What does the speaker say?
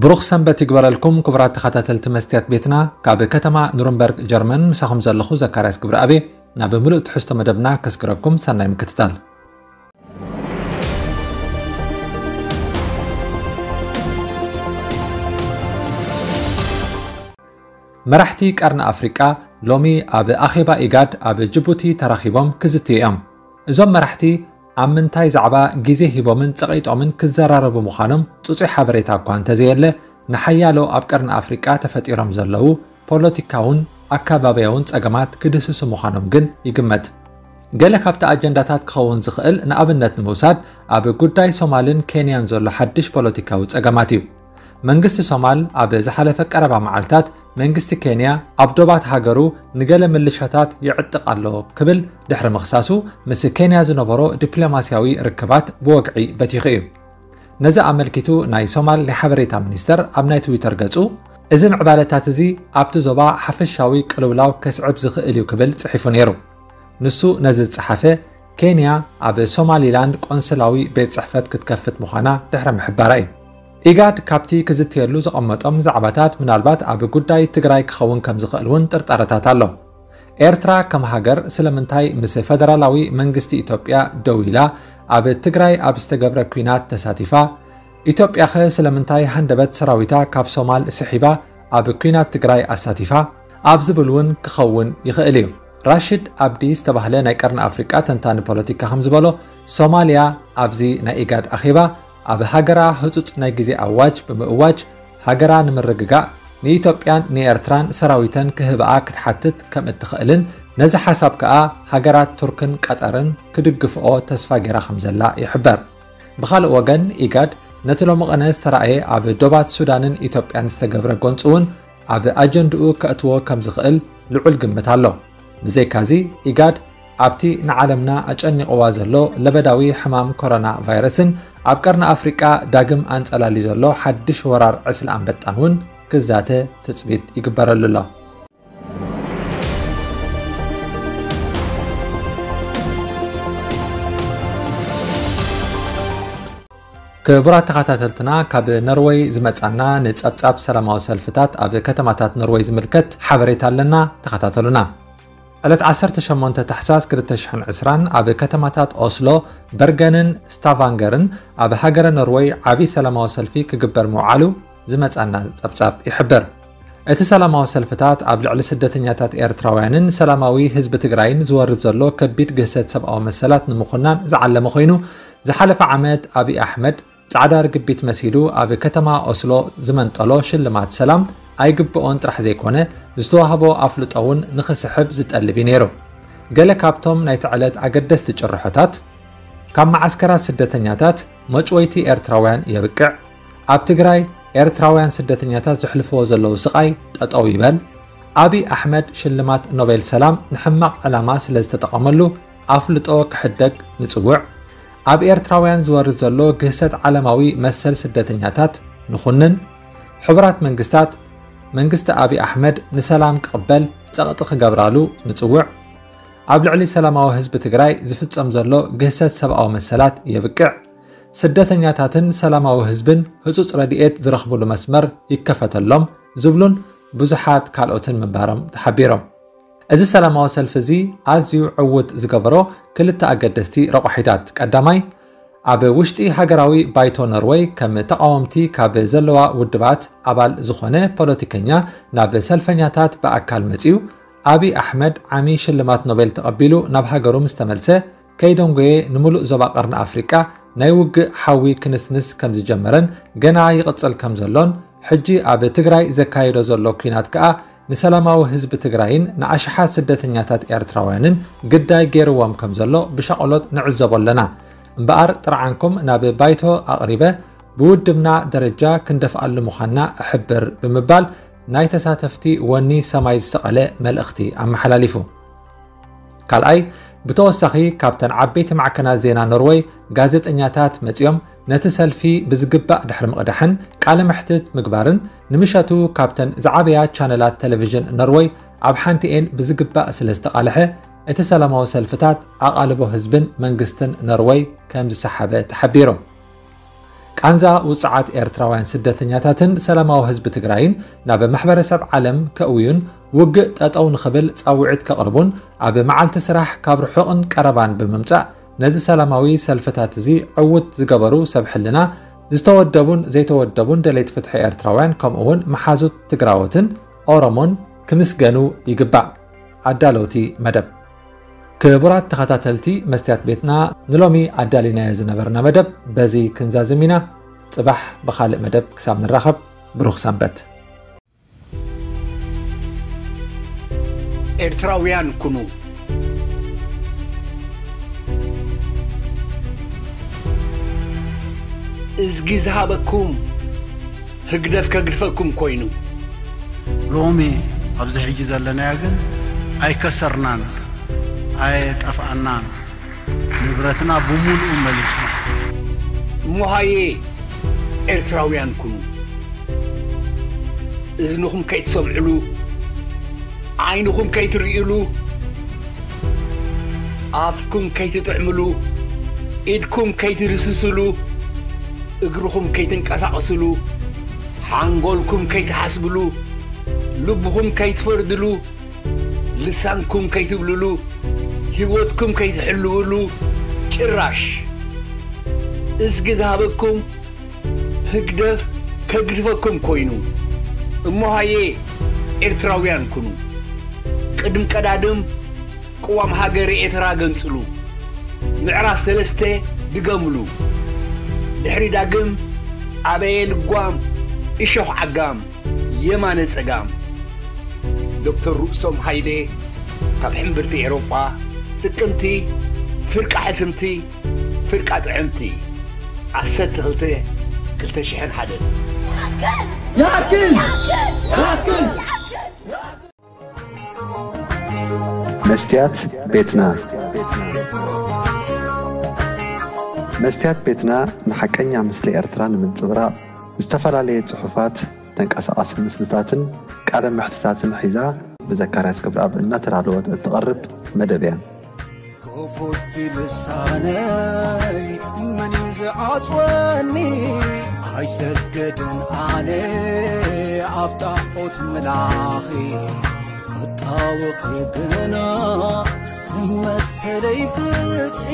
ብሩኽ ሰንበት ይግበረልኩም ክቡራት ተኸታተልቲ መስትያት ቤትና። ካብ ከተማ ኑርንበርግ ጀርመን ምሳኹም ዘለኹ ዘካርያስ ግብረኣብ። ናብ ምሉእ ትሕዝቶ መደብና ከስግረኩም፣ ሰናይ ምክትታል። መራሕቲ ቀርኒ ኣፍሪቃ ሎሚ ኣብ ኣኼባ ኢጋድ ኣብ ጅቡቲ ተራኺቦም ክዝትዩ እዮም። እዞም መራሕቲ ኣብ ምንታይ ዛዕባ ግዜ ሂቦምን ጸቒጦምን ክዘራረቡ ምዃኖም ጽጹይ ሓበሬታ እኳ እንተዘየለ፣ ንሓያሎ ኣብ ቀርኒ ኣፍሪቃ ተፈጢሮም ዘለዉ ፖለቲካውን ኣከባብያውን ጸገማት ክድህስሱ ምዃኖም ግን ይግመት። ገለ ካብቲ ኣጀንዳታት ክኸውን ዝኽእል፣ ንኣብነት ንምውሳድ፣ ኣብ ጉዳይ ሶማልን ኬንያን ዘሎ ሓድሽ ፖለቲካዊ ጸገማት እዩ። መንግስቲ ሶማል ኣብ ዝሓለፈ ቀረባ መዓልታት፣ መንግስቲ ኬንያ ኣብ ዶባት ሃገሩ ንገለ ምልሻታት ይዕጥቕ ኣሎ ክብል ድሕሪ ምኽሳሱ፣ ምስ ኬንያ ዝነበሮ ዲፕሎማስያዊ ርክባት ብወግዒ በቲኹ እዩ። ነዚ ኣመልኪቱ ናይ ሶማል ናይ ሓበሬታ ሚኒስተር ኣብ ናይ ትዊተር ገጹ፣ እዚ ምዕባለታት እዚ ኣብቲ ዞባ ሓፈሻዊ ቅልውላው ከስዕብ ዝኽእል እዩ ክብል ጽሒፉ ነይሩ። ንሱ ነዚ ዝጸሓፈ፣ ኬንያ ኣብ ሶማሊላንድ ቆንስላዊ ቤት ጽሕፈት ክትከፍት ምዃና ድሕሪ ምሕባራ እዩ። ኢጋድ ካብቲ ክዝትየሉ ዘቐመጦም ዛዕባታት፣ ምናልባት ኣብ ጉዳይ ትግራይ ክኸውን ከም ዝኽእል እውን ጥርጣረታት ኣሎ። ኤርትራ ከም ሃገር ስለምንታይ ምስ ፈደራላዊ መንግስቲ ኢትዮጵያ ደው ኢላ ኣብ ትግራይ ኣብ ዝተገብረ ኲናት ተሳቲፋ? ኢትዮጵያኸ ስለምንታይ ሃንደበት ሰራዊታ ካብ ሶማል ስሒባ ኣብ ኲናት ትግራይ ኣሳቲፋ? ኣብ ዝብል እውን ክኸውን ይኽእል እዩ። ራሽድ ኣብዲ ዝተባህለ ናይ ቀርኒ ኣፍሪቃ ተንታኒ ፖለቲካ ከም ዝበሎ፣ ሶማልያ ኣብዚ ናይ ኢጋድ ኣኼባ ኣብ ሃገራ ህጹጽ ናይ ግዜ ኣዋጅ ብምእዋጅ፣ ሃገራ ንምርግጋእ ንኢትዮጵያን ንኤርትራን ሰራዊተን ክህብኣ ክትሓትት ከም እትኽእልን፣ ነዚ ሓሳብ ከኣ ሃገራት ቱርክን ቀጠርን ክድግፍኦ ተስፋ ገይራ ከም ዘላ ይሕበር። ብኻልእ ወገን፣ ኢጋድ ነቲ ሎሚ ቐነ ዝተራእየ ኣብ ዶባት ሱዳንን ኢትዮጵያን ዝተገብረ ጎንጺ እውን ኣብ ኣጀንድኡ ከእትዎ ከም ዝኽእል ልዑል ግምት ኣሎ። ብዘይካዚ፣ ኢጋድ ኣብቲ ንዓለምና ኣጨኒቕዋ ዘሎ ለበዳዊ ሕማም ኮሮና ቫይረስን ኣብ ቀርኒ ኣፍሪቃ ዳግም ኣንጸላልዩ ዘሎ ሓድሽ ወራር ዕስለ ኣንበጣን እውን ክዛተ ትጽቢት ይግበረሉ ኣሎ። ክቡራት ተኸታተልትና፣ ካብ ኖርወይ ዝመጻና ንጸብጻብ ሰላማዊ ሰልፍታት ኣብ ከተማታት ኖርወይ ዝምልከት ሓበሬታ ኣለና። ተኸታተሉና። ዕለት ዓሰርተ ሸሞንተ ታሕሳስ ክልተ ሽሕን ዕስራን ኣብ ከተማታት ኦስሎ፣ በርገንን ስታቫንገርን ኣብ ሃገረ ኖርወይ ዓቢ ሰላማዊ ሰልፊ ክግበር ምውዓሉ ዝመጻና ጸብጻብ ይሕብር። እቲ ሰላማዊ ሰልፍታት ኣብ ልዕሊ ስደተኛታት ኤርትራውያንን ሰላማዊ ህዝቢ ትግራይን ዝወርድ ዘሎ ከቢድ ግህሰት ሰብኣዊ መሰላት ንምኹናን ዝዓለመ ኮይኑ፣ ዝሓለፈ ዓመት ኣብይ ኣሕመድ ጻዕዳ ርግቢት መሲሉ ኣብ ከተማ ኦስሎ ዝመንጠሎ ሽልማት ሰላም ኣይግብኦን ጥራሕ ዘይኮነ፣ ዝተዋህቦ ኣፍልጦ እውን ንኽስሕብ ዝጠልብ እዩ ነይሩ። ገለ ካብቶም ናይቲ ዕለት ኣገደስቲ ጭርሖታት፣ ካብ መዓስከራት ስደተኛታት መጭወይቲ ኤርትራውያን የብቅዕ፣ ኣብ ትግራይ ኤርትራውያን ስደተኛታት ዘሕልፍዎ ዘለዉ ስቓይ ጠጠው ይበል፣ ኣብይ ኣሕመድ ሽልማት ኖቤል ሰላም ንሕማቕ ዕላማ ስለ ዝተጠቐመሉ ኣፍልጦ ክሕደግ ንጽውዕ፣ ኣብ ኤርትራውያን ዝወርድ ዘሎ ግህሰት ዓለማዊ መሰል ስደተኛታት ንኹንን፣ ሕቡራት መንግስታት መንግስቲ ኣብይ ኣሕመድ ንሰላም ክቕበል ጸቕጢ ክገብራሉ ንጽውዕ፣ ኣብ ልዕሊ ሰላማዊ ህዝቢ ትግራይ ዝፍጸም ዘሎ ግህሰት ሰብኣዊ መሰላት የብቅዕ፣ ስደተኛታትን ሰላማዊ ህዝብን ህጹጽ ረድኤት ዝረኽብሉ መስመር ይከፈተሎም ዝብሉን ብዙሓት ካልኦትን ምንባሮም ተሓቢሮም። እዚ ሰላማዊ ሰልፊ እዚ ኣዝዩ ዕዉት ዝገበሮ ክልተ ኣገደስቲ ረቋሒታት፣ ቀዳማይ፣ ኣብ ውሽጢ ሃገራዊ ባይቶ ኖርወይ ከም ተቓወምቲ ካብ ዘለዋ ውድባት ኣባል ዝኾነ ፖለቲከኛ ናብ ሰልፈኛታት ብኣካል መጺኡ፣ ኣብይ ኣሕመድ ዓሚ ሽልማት ኖቤል ተቐቢሉ ናብ ሃገሩ ምስ ተመልሰ፣ ከይደንጎየ ንሙሉእ ዞባ ቀርኒ ኣፍሪቃ ናይ ውግእ ሓዊ ክንስንስ ከም ዝጀመረን ገና ይቕጽል ከም ዘሎን፣ ሕጂ ኣብ ትግራይ ዘካየዶ ዘሎ ኲናት ከኣ ንሰላማዊ ህዝቢ ትግራይን ንኣሽሓት ስደተኛታት ኤርትራውያንን ግዳይ ገይርዎም ከም ዘሎ ብሻቕሎት ንዕዘቦ ኣለና። እምበኣር ጥርዓንኩም ናብ ባይቶ ኣቕሪበ ብውድብና ደረጃ ክንደፍኣሉ ምዃንና እሕብር ብምባል ናይ ተሳተፍቲ ወኒ ሰማይ ዝሰቐለ መልእኽቲ ኣመሓላሊፉ። ካልኣይ፣ ብተወሳኺ ካብተን ዓበይቲ ማዕከናት ዜና ኖርወይ ጋዜጠኛታት መጺኦም ነቲ ሰልፊ ብዝግባእ ድሕሪ ምቕዳሕን ቃለ መሕትት ምግባርን፣ ንምሸቱ ካብተን ዝዓበያ ቻነላት ቴሌቪዥን ኖርወይ ኣብ ሓንቲኤን ብዝግባእ ስለ ዝተቓልሐ፣ እቲ ሰላማዊ ሰልፍታት ኣቓልቦ ህዝብን መንግስትን ኖርወይ ከም ዝሰሓበ ተሓቢሩ። ቃንዛ ውጹዓት ኤርትራውያን ስደተኛታትን ሰላማዊ ህዝቢ ትግራይን ናብ ማሕበረሰብ ዓለም ከእውዩን ውግእ ጠጠው ንኽብል ጻውዒት ከቕርቡን ኣብ መዓልቲ ስራሕ ካብ ርሑቕን ቀረባን ብምምጻእ ነዚ ሰላማዊ ሰልፍታት እዚ ዕውት ዝገበሩ ሰብ ሕልና ዝተወደቡን ዘይተወደቡን ደለይቲ ፍትሒ ኤርትራውያን ከምኡ እውን መሓዙት ትግራዎትን ኦሮሞን ክምስገኑ ይግባእ። ኣዳለውቲ መደብ። ክቡራት ተኸታተልቲ መስትያት ቤትና፣ ንሎሚ ኣዳሊናዮ ዝነበርና መደብ በዚ ክንዛዝም ኢና። ጽባሕ ብኻልእ መደብ ክሳብ ንራኸብ ብሩኽ ሰንበት። ኤርትራውያን ኩኑ። እዝጊ ዝሃበኩም ህግደፍ ከግድፈኩም ኮይኑ። ሎሚ ኣብዚ ሕጂ ዘለናዮ ግን ኣይከሰርናን፣ ኣየጠፍኣናን፣ ንብረትና ብምሉኡ መሊስና። እሞሃየ ኤርትራውያን ኩኑ። እዝንኹም ከይትሰምዕሉ፣ ዓይንኹም ከይትርእሉ፣ ኣፍኩም ከይትጥዕምሉ፣ ኢድኩም ከይትድስስሉ፣ እግርኹም ከይትንቀሳቐስሉ፣ ሓንጎልኩም ከይትሓስብሉ፣ ልብኹም ከይትፈርድሉ፣ ልሳንኩም ከይትብልሉ፣ ህይወትኩም ከይትሕልውሉ፣ ጭራሽ እዝጊ ዝሃበኩም ህግደፍ ከግድፈኩም ኮይኑ። እሞሃየ ኤርትራውያን ኩኑ። ቅድም ቀዳድም ቅዋም ሃገረ ኤርትራ ገንጽሉ። ምዕራፍ ሰለስተ ድገምሉ። ድሕሪ ዳግም ኣበየ ልጓም እሾኽ ዓጋም የማነ ጸጋም። ዶክተር ርእሶም ሃይለ ካብ ሕምብርቲ ኤሮጳ። ጥቅምቲ ፍርቃ ሕስምቲ ፍርቃ ጥዕምቲ። ዓሰርተ ክልተ ክልተ ሽሕን ሓደን። ይኣክል! ይኣክል! መስትያት ቤትና። መስትያት ቤትና ንሓቀኛ ምስሊ ኤርትራ ንምንጽብራቕ ዝተፈላለየ ጽሑፋት፣ ተንቀሳቓሲ ምስልታትን ቃለ መሕትታትን ሒዛ ብዘካርያስ ክብረኣብ እናተዳለወት እትቐርብ መደብ እያ። ክፉት ልሳነይ መን እዩ ዝዓጽወኒ? ኣይሰገድን ኣነ ኣብ ጣዖት ምላኺ ክጣወኺ ግና መሰለይ ፍትሒ።